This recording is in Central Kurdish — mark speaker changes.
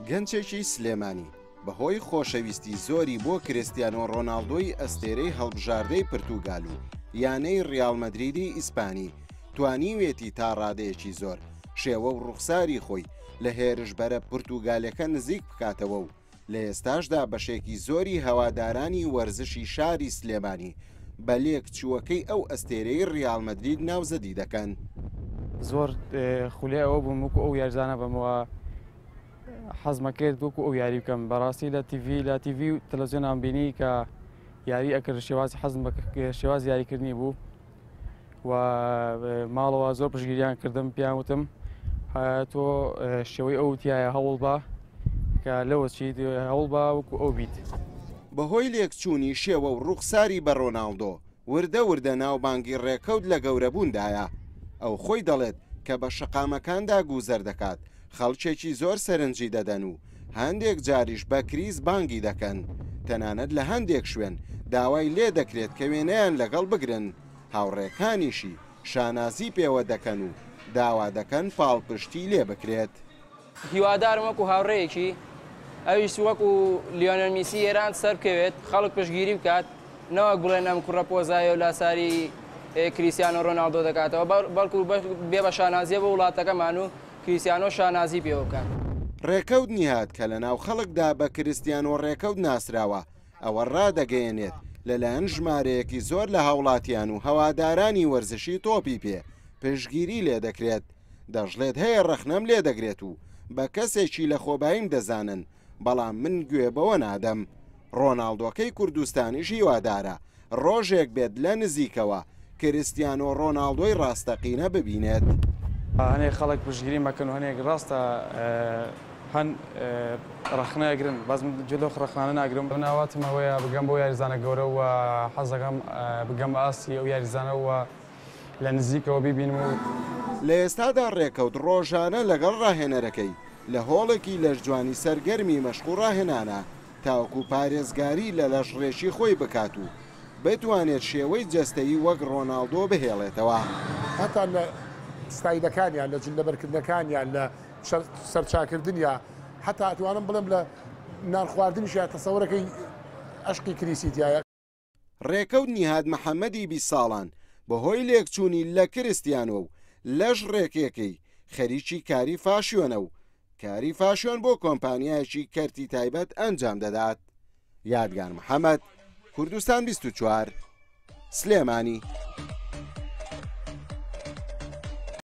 Speaker 1: گەنجێکی سلێمانی بەهۆی خۆشەویستی زۆری بۆ کریستیانۆ ڕۆناڵدۆی ئەستێرەی هەڵبژاردەی پرتوگال و یانەی ڕیاڵ مەدریدی ئیسپانی توانیوێتی تا ڕادەیەکی زۆر شێوە و ڕوخساری خۆی لە هێرشبەرە پرتوگالەکە نزیک بکاتەوە و لە ئێستاشدا بەشێکی زۆری هەوادارانی وەرزشی شاری سلێمانی بە لێکچووەکەی ئەو ئەستێرەی ڕیاڵ مەدرید ناوزەدی دەکەن.
Speaker 2: زۆر خولیای ئەوە بووم وەکو ئەو یاریزانە بم و حەزمە کرد وەکو ئەو یاری بکەم. بەڕاستی لە تیڤی لە تیڤی و تەلەڤزیۆنان بینی کە یاری ئەکرد شێوازی حەزم بە شێوازی یاریکردنی بوو و ماڵەوە زۆر پشتگیریان کردم، پێیان وتم تۆ شێوەی ئەو تایە هەوڵ بە کە لەوە چیت هەوڵ بە وەکو ئەو بیت.
Speaker 1: بەهۆی لێکچوونی شێوە و ڕووخساری بە ڕۆناڵدۆ، وردە وردە ناوبانگی ڕێکەوت لە گەورەبووندایە. ئەو خۆی دەڵێت کە بە شەقامەکاندا گوزەر دەکات، خەڵکێکی زۆر سەرنجی دەدەن و هەندێک جاریش بە کریس بانگی دەکەن، تەنانەت لە هەندێک شوێن داوای لێدەکرێت کە وێنەیان لەگەڵ بگرن، هاوڕێکانیشی شانازی پێوە دەکەن و داوا دەکەن پاڵپشتی لێبکرێت.
Speaker 3: هیوادارم وەکو هاوڕێیەکی ئەویش وەکو لیۆنێل میسی ئێران سەربکەوێت، خەڵک پشتگیری بکات، نەوەک بڵێن ئەم کوڕە پۆزایە و لاساری کریستیانۆ رۆناڵدۆ دەکاتەوە، بەڵکو بێ بە شانازیە بۆ وڵاتەکەمان و کریستیانۆ شانازی پێوە بکات.
Speaker 1: ڕێکەوت نیهاد کە لەناو خەڵکدا بە کریستیانۆ ڕێکەوت ناسراوە، ئەوە ڕادەگەیەنێت لەلایەن ژمارەیەکی زۆر لە هاوڵاتیان و هەوادارانی وەرزشی تۆپی پێ پشتگیری لێدەکرێت، دەشڵێت هەیە ڕەخنەم لێدەگرێت و بە کەسێکی لەخۆباییم دەزانن، بەڵام من گوێ بەوە نادەم. ڕۆناڵدۆکەی کوردستانیش هیوادارە ڕۆژێک بێت لە نزیکەوە کریستیانۆ ڕۆناڵدۆی ڕاستەقینە ببینێت.
Speaker 2: هەنێک خەڵک پشتگیری مەکەن و هەنێک ڕاستە هەن ڕەخنە ئەگرن، بەس من گوێ لەو ڕەخنانە ناگرم. من ئاواتم ئەوەیە بگەم بەو یاریزانە گەورە و حەز دەکەم بگەم بە ئاستی ئەو یاریزانە و لە نزیکەوە بیبینم و.
Speaker 1: لە ئێستادا ڕێکەوت ڕۆژانە لەگەڵ ڕاهێنەرەکەی لە هۆڵێکی لەشجوانی سەرگەرمی مەشق و ڕاهێنانە تاوەکو پارێزگاری لە لەشڕێکی خۆی بکات و بتوانێت شێوەی جەستەیی وەک ڕۆناڵدۆ بهێڵێتەوە.
Speaker 4: هەتا لە ستایلەکانیان، لە جل لەبەرکردنەکانیان، لە سەرچاکردنیا، هەتا ئەتوانم بڵێم لە نان خواردنیشیا تەسەورەکەی ئەشقی کریسی تیایە.
Speaker 1: ڕێکەوت نیهاد محەمەدی 20 ساڵان بەهۆی لێکچوونی لە کریستیانۆ و لەش ڕێکێکەی خەریکی کاری فاشیۆنە و کاری فاشیۆن بۆ کۆمپانیایەکی کەرتی تایبەت ئەنجام دەدات. یادگار محەمەد، کوردستان 24، سلێمانی.